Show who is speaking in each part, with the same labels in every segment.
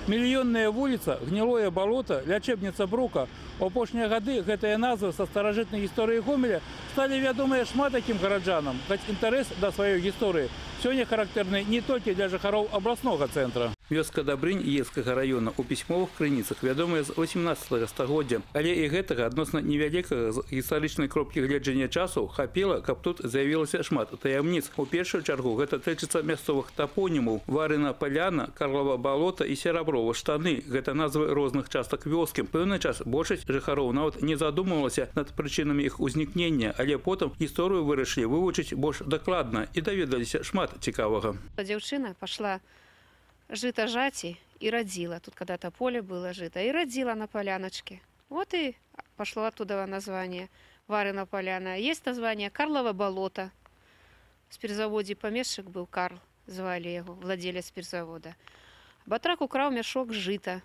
Speaker 1: Мільённая вуліца, гнілое балота, лячэбніца Брука. У апошнія гады гэтыя назвы са старажытнай гісторыі Гомеля сталі вядомыя шмат такім гараджанам, хоць інтарэс да сваёй гісторыі сёння характэрны не толькі для жыхароў абласнога цэнтра. Вёска Дабрынь Ейскага района у пісьмовых крыніцах вядомая з 18 стагоддзя, але і гэтага адносна невялікага з гістарычнай кропкі гледжання часу хапіла, каб тут з'явілася шмат таямніц. У першую чаргу гэта тычыцца мясцовых тапонімаў: Варына Паляна, Карлова балота і Сераброва штаны. Гэта назвы розных частак вёскі. Пэўны час большасць жыхароў нават не задумвалася над прычынамі іх узнікнення, але потым гісторыю вырашылі вывучыць больш дакладна і даведаліся шмат цікавага.
Speaker 2: Дзяўчына пашла жито жати и родила. Тут когда-то поле было жито. И родила на поляночке. Вот и пошло оттуда название Варина поляна. Есть название Карлова болото. В спиртзаводе помещик был Карл, звали его, владелец спиртзавода. Батрак украл мешок жита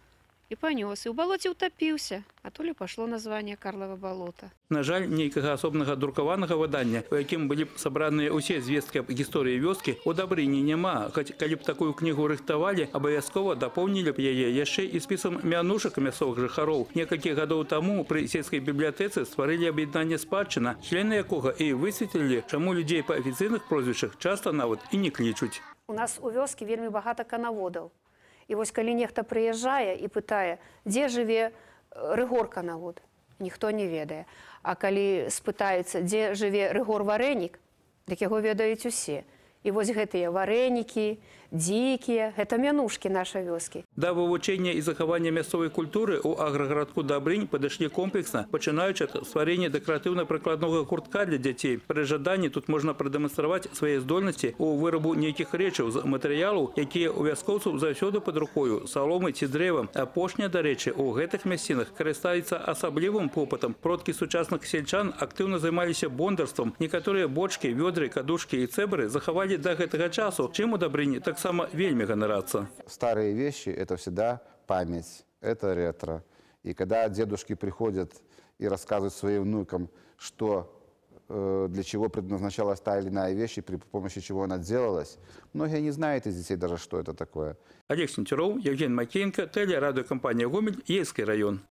Speaker 2: и понес. И в болоте утопился. А то ли пошло название Карлова болото.
Speaker 1: На жаль, нейкага асобнага друкаванага выдання, у якім былі б сабраныя ўсе звесткі аб гісторыі вёскі, у Дабрыні няма. Хоць калі б такую кнігу рыхтавалі, абавязкова дапоўнілі б яе яшчэ і спісам мянушак мясцовых жыхароў. Некалькі гадоў таму пры сельскай бібліятэцы стварылі аб'яднанне спадчына, члены якога і высветлілі, чаму людзей па афіцыйных прозвішчах часта нават і не клічуць.
Speaker 3: У нас у вёскі вельмі багата канаводаў. І вось калі нехта прыязджае і пытае, дзе жыве Рыгор канавод, ніхто не ведае. А калі спытаецца, дзе жыве Рыгор Варэнік, дык яго ведаюць усе. І вось гэтыя варэнікі, дзікія, гэта мянушкі нашай вёскі.
Speaker 1: Да вывучэння і захавання мясцовай культуры ў аграгарадку Дабрынь падышлі комплексна, пачынаючы ад стварэння дэкаратыўна-прыкладнога гуртка для дзяцей. Пры жаданні тут можна прадэманстраваць свае здольнасці ў вырабу нейкіх рэчаў з матэрыялаў, якія ў вяскоўцаў заўсёды пад рукою, саломы ці дрэва. Апошняе, дарэчы, у гэтых мясцінах карыстаецца асаблівым попытам. Продкі сучасных сельчан актыўна займаліся бондарствам. Некаторыя бочкі, вёдры, кадушкі і цэбры захавалі до гэтага часу, чым у Дабрыні таксама вельмі ганарацца.
Speaker 4: Старые вещи – это всегда память, это ретро. И когда дедушки приходят и рассказывают своим внукам, что для чего предназначалась та или иная вещь, и при помощи чего она делалась, многие не знают из детей даже, что это такое.
Speaker 1: Олег Сентеров, Евгений Макеенко, телерадиокомпания «Гомель», Ейский район.